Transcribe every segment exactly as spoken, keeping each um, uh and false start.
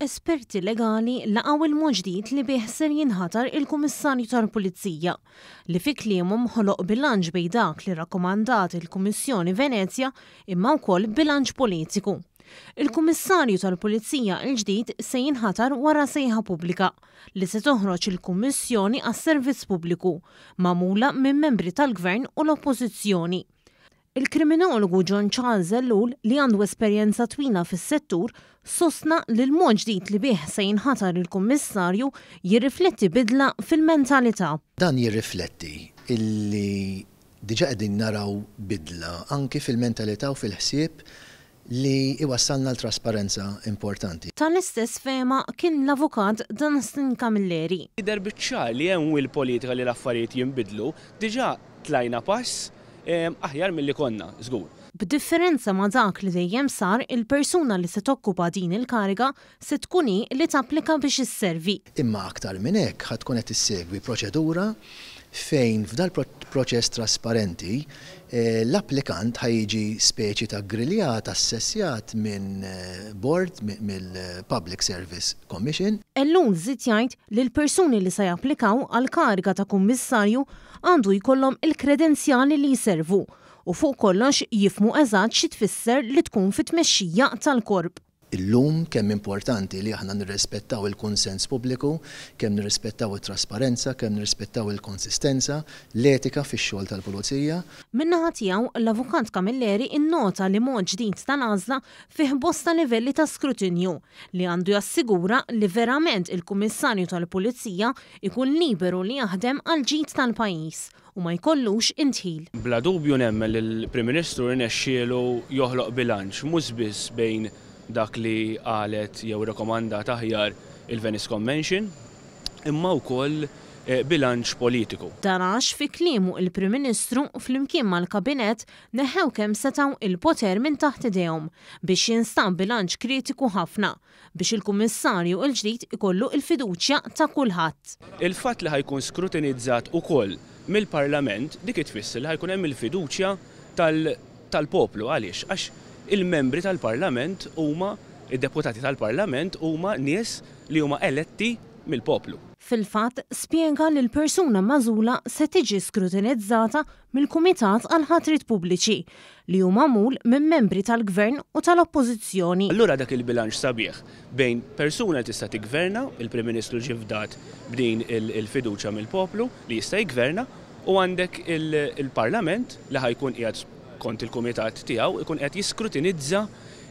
Esperti legali laqgħu il-mod ġdid li bih ser jinħatar il-Kummissarju tal-Pulizija, li fi kliemhom ħoloq bilanċ bejn dak li rakkomandat il-Kummissjoni Venezja imma wkoll bilanċ politiku. Il-Kummissarju tal-Pulizija l-ġdid se jinħatar wara sejħa pubblika li se toħroġ il-Kummissjoni għas-Servizz Pubbliku, magħmula minn membri tal-Gvern u l-Oppożizzjoni. Il-kriminologu John Charles Ellul, li għandu esperjenza twila fis-settur, sostna li l-mod ġdid li bih se jinħatar il-Kummissarju jirrifletti bidla fil-mentalità. Dan jirrifletti illi diġà qegħdin naraw bidla anki fil-mentalità u fil-ħsieb li iwassalna l-trasparenza importanti. Tal-istess fehma kien l-avukat Dunstan Camilleri. Jidher biċ-ċar li hemm will politika li l-affarijiet jinbidlu, diġà tlajna pass aħjar milli konna, żgur. B'differenza ma' dak li dejjem sar, il-persuna li se tokkupa din il-kariga se tkun hi li tapplika biex isservi. Imma aktar minn hekk ħa tkun qed issegwi proċedura fejn f'dal proċess trasparenti l-applikant ħa jiġi speċi ta' griljat, assessjat minn board mill-Public Service Commission. Ellul żied jgħid li l-persuni li se japplikaw għal kariga ta' kummissarju għandu jkollhom il-kredenzjali li jservu u fuq kollox jifhmu eżatt xi tfisser li tkun fit-tmexxija tal-korp. Illum kemm importanti li aħna nirrispettaw il-kunsens pubbliku, kemm nirrispettaw it-trasparenza, kemm nirrispettaw il-konsistenza, l-etika fix-xogħol tal-pulizija. Min-naħa tiegħu l-Avukat Camilleri innota li mod ġdid tal-għażla fih bosta livelli ta' skrutinju li għandu jassigura li verament il-Kummissarju tal-Pulizija ikun liberu li jaħdem għal ġid tal-pajjiż u ma jkollux indħil. Bla dubju nemmen li l-Prim Ministru rnexxielu joħloq bilanċ mhux biss bejn dak li qalet jew rekomandat aħjar il-Venice Convention, imma wkoll bilanċ politiku. Dan għax fi kliemu il-Prim Ministru flimkien mal-Kabinett neħew kemm setgħu il-poter minn taħt idejhom biex jinstab bilanċ kritiku ħafna biex il-Kummissarju l-ġdid ikollu il-fiduċja ta' kulħadd. Il-fatt li ħa jkun skrutinizzat ukoll mill-Parlament dik itfisser li ħa jkun hemm il-fiduċja tal-poplu. Għaliex? Għax il-membri tal-Parlament huma, id-deputati tal-Parlament huma nies li huma eletti mill-poplu. Fil-fatt, spjega li l-persuna magħżula se tiġi skrutinizzata mill-Kumitat għal Ħatrit Pubbliċi li hu magħmul minn membri tal-Gvern u tal-Oppożizzjoni. Allura dak il-bilanċ sabiħ bejn persuna li tista' tiggverna, il-Prim Ministru ġie fdat b'din il-fiduċja mill-poplu li jista' jiggverna, u għandek il-Parlament li ħa jkun qiegħed kont il-kumitat tiegħu ikun qed jiskrutinizza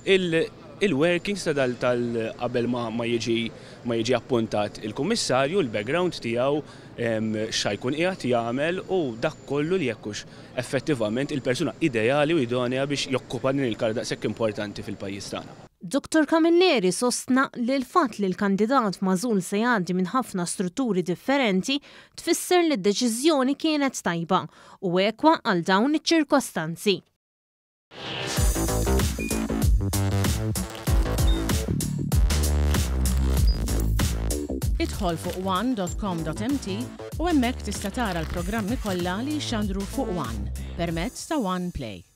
il-workings ta' dal tal qabel ma jiġi ma jiġi appuntat il-kummissarju, il-background tiegħu, x'ħa jkun qiegħed jagħmel u dak kollu li jekk hux effettivament il-persuna ideali u idonea biex jokkupa din il-kariga daqshekk importanti fil-pajjiż tagħna. Doktor Camilleri sostna li l-fatt li l-kandidat magħżul se jgħaddi minn ħafna strutturi differenti tfisser li d-deċiżjoni kienet tajba u ekwa għal dawn iċ-ċirkostanzi. Idħol fuq one dot com dot m t u hemmhekk tista' tara l-programmi kollha li jxandru fuq One permezz ta' One Play.